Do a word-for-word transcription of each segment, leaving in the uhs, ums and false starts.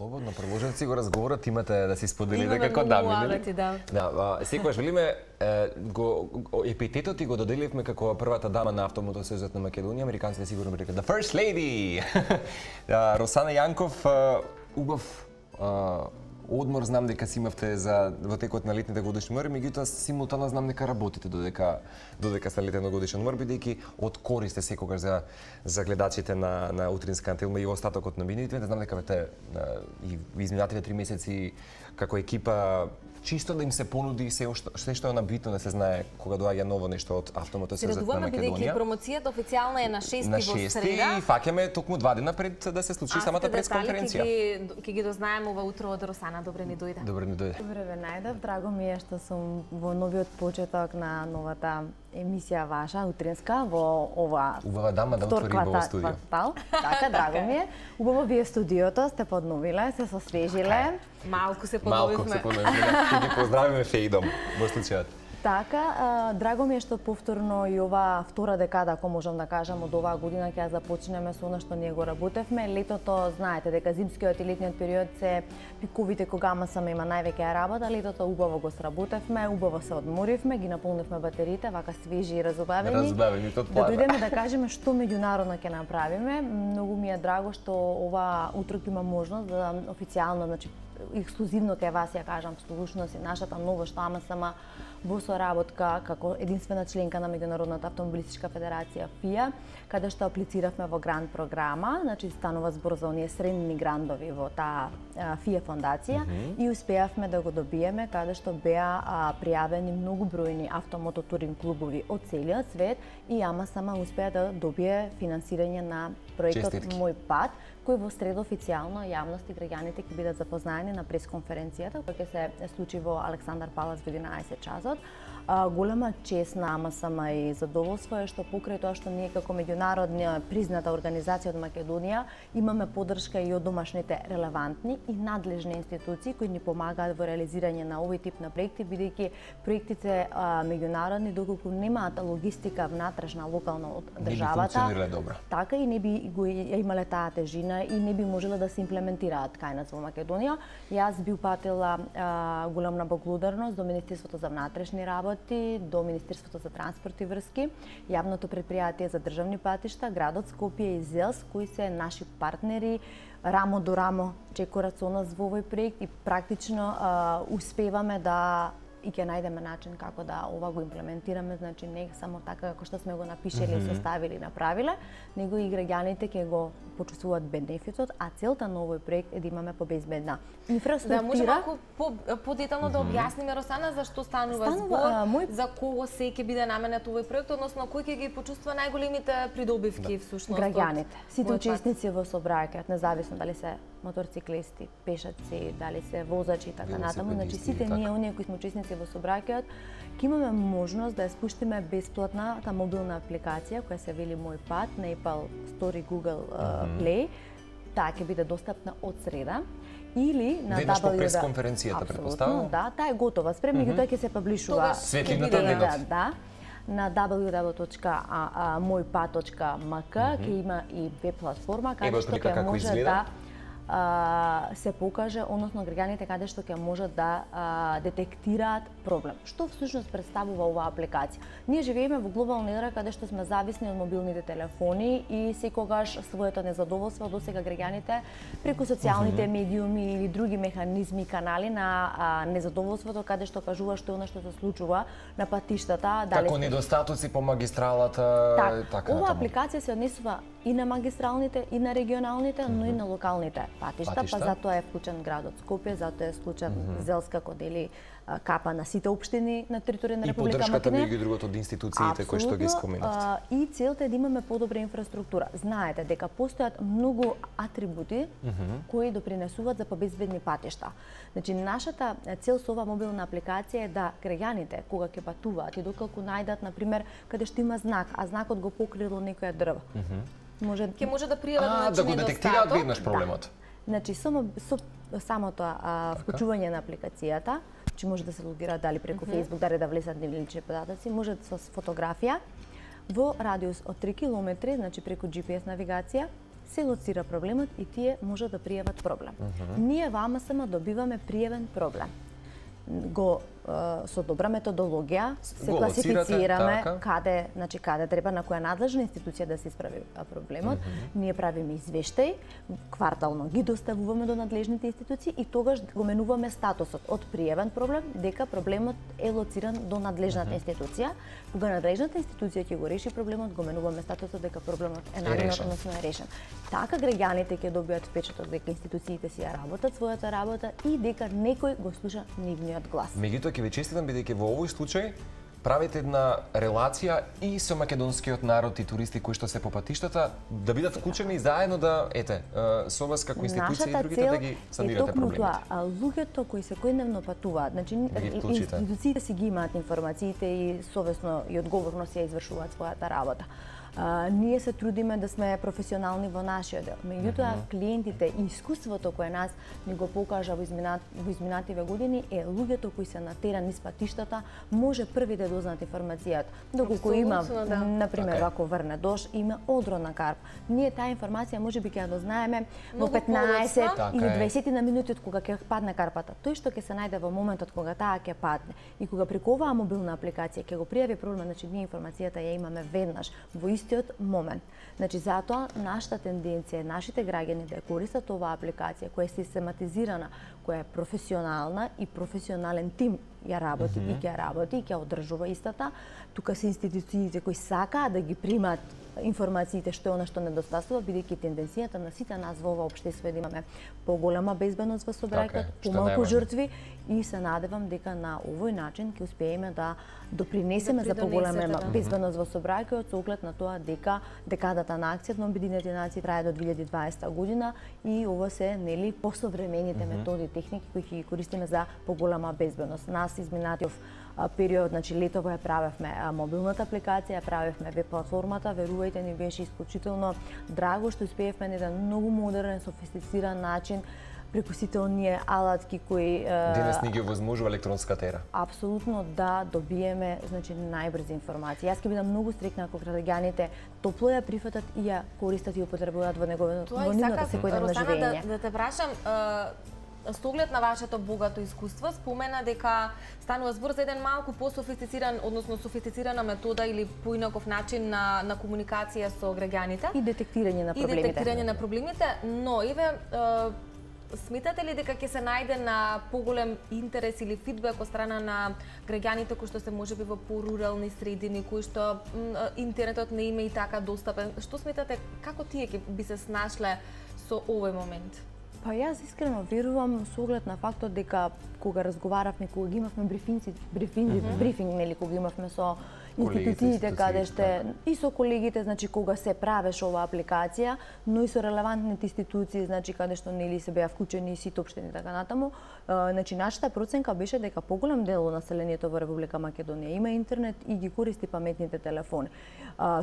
Слободно, продолжете си го разговорот, имате да си споделите како дами, нели? Да. Да, секогаш велиме го епитетот и го доделивме како првата дама на автомотосезот на Македонија, американците сигурно би рекли the first lady. Росана Јанков, убав одмор, знам дека си имавте за во текот на летните годишни одмори, меѓутоа симултано знам дека работите додека додека сте летен годишен одмор, бидејќи од користе секогаш за за гледачите на на утринска антилма и остатокот на минутите. Знам дека вете и изминатите три месеци како екипа чисто да им се понуди се се што е набитно да се знае кога доаѓа ново нешто од автомотосезот на Македонија. Бидејќи промоцијата официјално е на шести во среда. На шести и фаќаме токму два дена пред да се случи самата пресконференција. Ќе ги дознаеме ова утро од Росана. Добре ни дојде. Добре ни дојде. Добре ве најдов. Драго ми е што сум во новиот почеток на новата емисија ваша утринска во ова убава дама да отвори убаво студио. Така, драго ми е. Убаво вие студиото сте подновиле, се сосвежиле. Малку се подновивме. Малку се подновивме. Ќе ги поздравиме Феидом во случајот. Така, драго ми е што повторно и ова втора декада, ако можам да кажам, од оваа година ќе ја започнеме со она што ние го работевме. Летото, знаете дека зимскиот и летниот период се пиковите кога ама саме има највеќе работа, летото убаво го сработевме, убаво се одморивме, ги наполнивме батериите, вака свежи и разубавени. Разубавени од плана. Да дојдеме да кажеме што меѓународно ќе направиме. Многу ми е драго што ова утро има можност да официјално, значи ексклузивно кај вас ја кажам, слушност и нашата ново што ама сама во соработка како единствена членка на Меѓународната автомобилистичка федерација ФИА, каде што аплициравме во грант програма, значи станува збор за оние средни грандови во таа ФИА фондација mm -hmm. и успеавме да го добиеме, каде што беа а, пријавени многу бројни автомототуринг клубови од целиот свет и ама сама успеа да добие финансирање на проектот Честитки. Мој пат, кој во среда официјално јавност и граѓаните ќе бидат запознаени на пресконференцијата која ќе се случи во Александар Палац во единаесет часот. А, голема чест на ама сама и задоволство е што покрај тоа што ние како меѓународна призната организација од Македонија имаме поддршка и од домашните релевантни и надлежни институции кои ни помагаат во реализирање на овој тип на проекти, бидејќи проектите а, меѓународни доколку немаат логистика внатрешна локална од државата, така и не би го имале таа тежина и не би можеле да се имплементираат кај нас во Македонија. Јас би упатила а, големна благодарност до Министерството за внатрешни работи, до Министерството за транспорт и врски, јавното претпријатие за државни патишта, градот Скопје и ЗЕЛС, кои се наши партнери, рамо до рамо чекорат со нас во овој проект и практично а, успеваме да и ќе најдеме начин како да ова го имплементираме, значи не само така како што сме го напишеле, mm -hmm. составили и направиле, него и граѓаните ќе го почувствуваат бенефитот, а целта на овој проект е да имаме побезбедна инфраструктура. Да, може малку подетално да објасниме, Росана, за што станува, станува збор, а, мој... за кого се ќе биде наменет овој проект, односно кој ќе ги почувствува најголемите придобивки да. всушност? Граѓаните, сите учесници во сообраќајот, независно дали се моторциклисти, пешаци, дали се возачи и така натаму, значи сите ние оние кои сме учесници во сообраќајот, ќе имаме можност да ја спуштиме бесплатната мобилна апликација која се вели Мој пат на Apple Store и Google uh, Play. Таа ќе биде достапна од среда или на веднаш по пресконференцијата претпоставувам. Да, таа е готова. Спрем меѓутоа ќе се паблишува. Светлината да, да. На дабл ю дабл ю точка мој пат точка ем ка ќе има и веб платформа каде што ќе може да Uh, се покаже, односно граѓаните каде што ќе можат да uh, детектираат проблем. Што всушност представува оваа апликација? Ние живееме во глобална ера каде што сме зависни од мобилните телефони и секогаш своето незадоволство досега граѓаните преку социјалните mm -hmm. медиуми или други механизми, канали на uh, незадоволството каде што кажува што е она што се случува на патиштата, дали како недостатоци по магистралата, так, така. Оваа апликација се однесува и на магистралните, и на регионалните, mm -hmm. но и на локалните патишта, патишта, па затоа е вклучен градот Скопје, затоа е вклучен mm -hmm. ЗЕЛС како дели капа на сите општини на територија на Република Македонија. И поддршката меѓу другото од институциите кои што ги споменавте. И целта е да имаме подобра инфраструктура. Знаете дека постојат многу атрибути mm -hmm. кои допринесуваат за побезбедни патишта. Значи нашата цел со оваа мобилна апликација е да граѓаните кога ќе патуваат и доколку најдат на пример каде што има знак, а знакот го покрило некоја дрво. Mm -hmm. Може ќе може да пријават а, да го детектираат веднаш проблемот. Да. Значи само со самото а, вклучување на апликацијата, че може да се логираат дали преку mm -hmm. Facebook, дали да влезат нивни лични податоци, може со фотографија во радиус од три километри, значи преку Джи Пи Ес навигација, се лоцира проблемот и тие можат да пријават проблем. Mm -hmm. Ние во АМСМ добиваме пријавен проблем. Го со добра методологија се го класифицираме така. каде, значи каде треба на која надлежна институција да се исправи проблемот. Mm -hmm. Ние правиме извештај, квартално ги доставуваме до надлежните институции и тогаш го менуваме статусот од пријавен проблем дека проблемот е лоциран до надлежната mm -hmm. институција. Кога надлежната институција ќе го реши проблемот, го менуваме статусот дека проблемот е наминат, односно е решен. Така граѓаните ќе добијат впечаток дека институциите си ја работат својата работа и дека некој го слуша нивниот глас. Меѓутоа ќе ви честитам бидејќи во овој случај правите една релација и со македонскиот народ и туристи кои што се по патиштата да бидат вклучени заедно да ете со вас како институција и другите да ги сандирате проблемите. Нашата цел е луѓето кои секојдневно патуваат, значи да институциите си ги имаат информациите и совесно и одговорно си ја извршуваат својата работа. Uh, ние се трудиме да сме професионални во нашиот дел. Меѓутоа, mm -hmm. клиентите и искуството кое нас ни го покажа во, изминат, во изминативе години е луѓето кои се на терен низ патиштата може први да дознаат информацијата. Доколку има, да. например, okay. ако врне дожд, има одрон на карп. Ние таа информација можеби ќе ја дознаеме во петнаесет или дваесет на минути од кога ќе падне карпата. Тој што ќе се најде во моментот кога таа ќе падне и кога преку оваа мобилна апликација ќе го пријави проблем, значи ние информацијата ја имаме веднаш во истиот момент. Значи затоа нашата тенденција е нашите граѓани да користат оваа апликација која е систематизирана, која е професионална и професионален тим ја работи mm -hmm. и ќе работи и ќе одржува истата. Тука се институциите кои сакаат да ги примат информациите што е она што недостасува, бидејќи тенденцијата на сите нас во ова општество е да имаме поголема безбедност во сообраќајот, помалку жртви и се надевам дека на овој начин ќе успееме да допринесеме да за поголема да. безбедност во сообраќајот со оглед на тоа дека декадата на акцијата на Обединетите нации трае до две илјади и дваесета година и ова се нели посовремените mm -hmm. методи и техники кои ќе ги користиме за поголема безбедност. Нас изминатиот период, значи летово ја правевме мобилната апликација, ја правевме веб платформата, верувајте ни беше исклучително драго што успеевме на еден многу модерен, софистициран начин преку сите оние алатки кои денес ни ги овозможува електронската ера. Апсолутно да добиеме, значи најбрзи информации. Јас ќе бидам многу стрикна ако граѓаните топло ја прифатат и ја користат и употребуваат во неговото во нивното секојдневно живење. Да, да те прашам, со оглед на вашето богато искуство, спомена дека станува збор за еден малку пософистициран, односно софистицирана метода или поинаков начин на, на комуникација со граѓаните. И детектирање на проблемите. И детектирање на проблемите, но еве сметате ли дека ќе се најде на поголем интерес или фидбек од страна на граѓаните кои што се можеби во порурални средини, кои што интернетот не има и така достапен? Што сметате, како тие ќе би се снашле со овој момент? Па јас искрено верувам со оглед на фактот дека кога разговаравме, кога ги имавме брифинци, брифинг, mm -hmm. брифинг, нели, кога имавме со институциите каде ште и со колегите, значи кога се правеше оваа апликација, но и со релевантните институции, значи каде што нели се беа вклучени и сите општини така натаму, значи нашата проценка беше дека поголем дел од населението во Република Македонија има интернет и ги користи паметните телефони.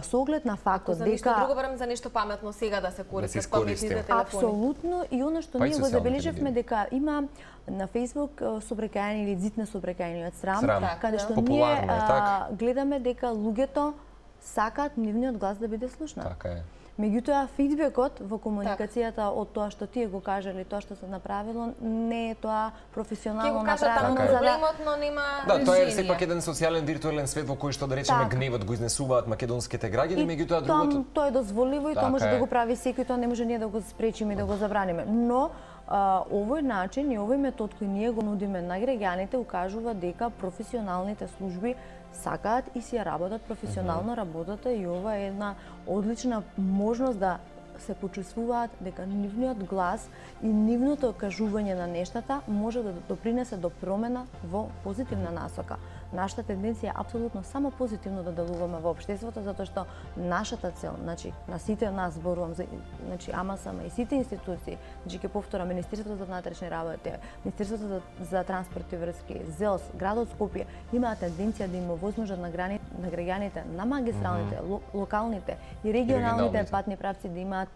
Со оглед на фактот за дека нешто друго барем за нешто паметно сега да се користат да паметните телефони. Апсолутно, и она што ние го забележавме дека има на Facebook собраќајни или зитне собраќајни од срам, срам. каде што да. ние е, а, гледаме дека луѓето сакаат нивниот глас да биде слушнат. Така е. Меѓутоа, фидбекот во комуникацијата так. од тоа што тие го кажале, тоа што се направило, не е тоа професионално направено за проблемот, но нема да, решение. Тоа е сепак еден социјален виртуелен свет во кој што да речеме так. гневот го изнесуваат македонските граѓани, меѓутоа другото тоа е дозволиво и так тоа може е. да го прави секој, тоа не може ние да го спречиме и да го забраниме. Но а, овој начин и овој метод кој ние го нудиме на граѓаните укажува дека професионалните служби сакаат и си ја работат професионално работата и ова е една одлична можност да се почувствуваат дека нивниот глас и нивното кажување на нештата може да допринесе до промена во позитивна насока. Нашата тенденција е апсолутно само позитивно да делуваме во општеството, затоа што нашата цел, значи на сите нас зборувам за значи АМСМ и сите институции, значи ќе повторам Министерството за внатрешни работи, Министерството за, за транспорт и врски, ЗЕЛС, градот Скопје имаат тенденција да им овозможат на, грани, на граѓаните на магистралните, mm -hmm. ло, локалните и регионалните патни правци да имаат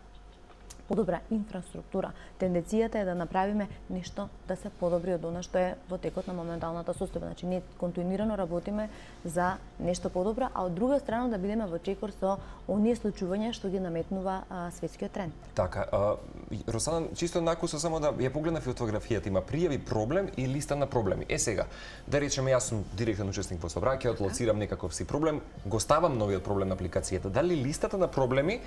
подобра инфраструктура. Тенденцијата е да направиме нешто да се подобри од она што е во текот на моменталната состојба. Значи ние континуирано работиме за нешто подобро, а од друга страна да бидеме во чекор со оние случувања што ги наметнува а, светскиот тренд. Така, а, Росана, чисто накусо само да ја погледна фотографијата, има пријави проблем и листа на проблеми. Е сега, да речеме јас сум директен учесник во сообраќајот, лоцирам некаков си проблем, го ставам новиот проблем на апликацијата. Дали листата на проблеми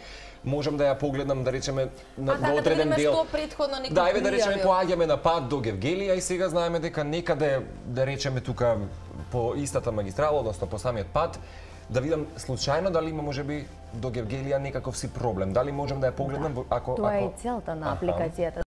можам да ја погледнам, да речеме, на А, така, до одреден да дел. што претходно некој Да, еве да речеме пријавил. поаѓаме на пат до Гевгелија и сега знаеме дека некаде, да речеме тука по истата магистрала, односно по самиот пат, да видам случајно дали има можеби до Гевгелија некаков си проблем. Дали можам да ја погледнам Да. ако Тоа е ако и целта на Аха. апликацијата.